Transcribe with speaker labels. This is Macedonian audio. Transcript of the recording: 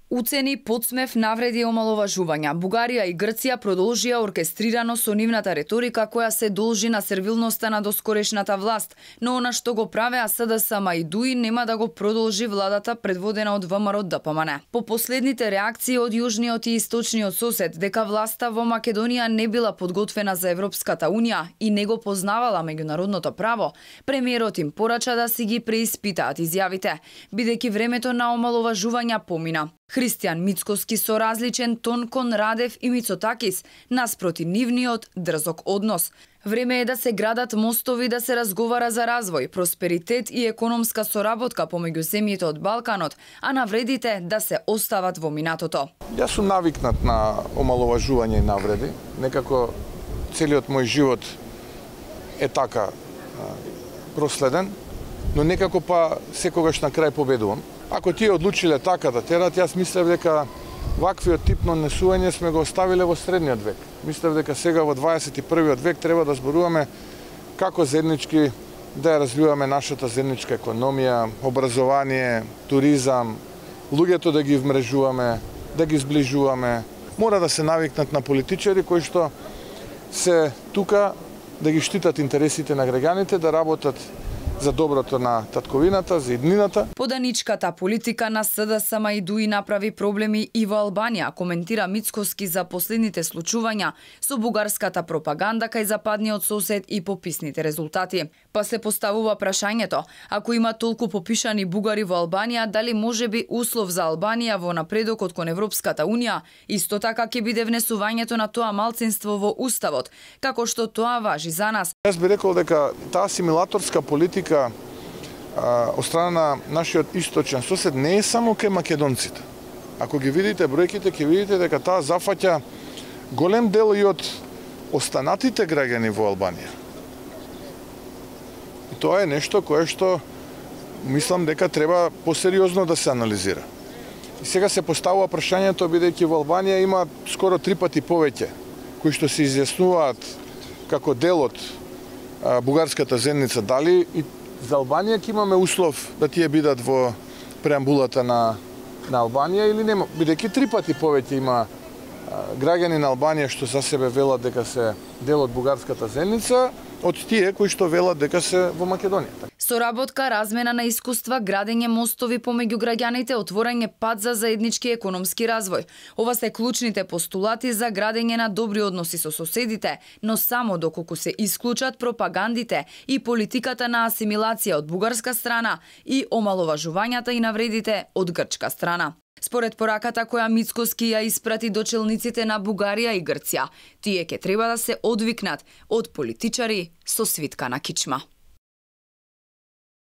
Speaker 1: Уцени, подсмев, навреди и омаловажувања. Бугарија и Грција продолжија оркестрирано со нивната реторика која се должи на сервилноста на доскорешната власт, но она што го правеа СДСМ и ДУИ нема да го продолжи владата предводена од ВМРО-ДПМН. По последните реакции од јужниот и источниот сосед дека власта во Македонија не била подготвена за Европската унија и не го познавала меѓународното право, премиерот им порача да си ги преиспитаат изјавите, бидејќи времето на омаловажувања помина. Христијан Мицкоски со различен тон кон Радев и Мицотакис, наспроти нивниот дрзок однос. Време е да се градат мостови, да се разговара за развој, просперитет и економска соработка помеѓу земјите од Балканот, а навредите да се остават во минатото.
Speaker 2: Јас сум навикнат на омаловажување и навреди. Некако целиот мој живот е така проследен, но некако па секогаш на крај победувам. Ако тие одлучиле така да терат, јас мислев дека ваквиот тип на однесување сме го оставиле во средниот век. Мислев дека сега во 21. век треба да зборуваме како заеднички да ја развиваме нашата заедничка економија, образование, туризам, луѓето да ги вмрежуваме, да ги зближуваме. Мора да се навикнат на политичари кои што се тука да ги штитат интересите на граѓаните, да работат за доброто на татковината, за иднината.
Speaker 1: Поданичката политика на СДСМ и ДУИ направи проблеми и во Албанија, коментира Мицкоски за последните случувања со бугарската пропаганда кај западниот сосед и пописните резултати. Па се поставува прашањето, ако има толку попишани бугари во Албанија, дали може би услов за Албанија во напредокот кон Европската унија, исто така ќе биде внесувањето на тоа малцинство во уставот, како што тоа важи за нас.
Speaker 2: Јас би рекол дека таа асимилаторска политика од страна на нашиот источен сосед не е само кај македонците. Ако ги видите бројките, ќе видите дека таа зафаќа голем дел и од останатите граѓани во Албанија. И тоа е нешто кое што мислам дека треба посериозно да се анализира. И сега се поставува прашањето, бидејќи во Албанија има скоро 3 пати повеќе кои што се изјаснуваат како дел од бугарската заедница, дали и за Албанија ќе имаме услов да тие бидат во преамбулата на Албанија или нема, бидејќи 3 пати повеќе има граѓани на Албанија што за себе велат дека се дел од бугарската заедница, од тие кои што велат дека се во Македонија.
Speaker 1: Соработка, размена на искуства, градење мостови помеѓу граѓаните, отворање пат за заеднички економски развој. Ова се клучните постулати за градење на добри односи со соседите, но само доколку се исклучат пропагандите и политиката на асимилација од бугарска страна и омаловажувањата и навредите од грчка страна. Според пораката која Мицкоски ја испрати до челниците на Бугарија и Грција, тие ќе треба да се одвикнат од политичари со свитка на кичма.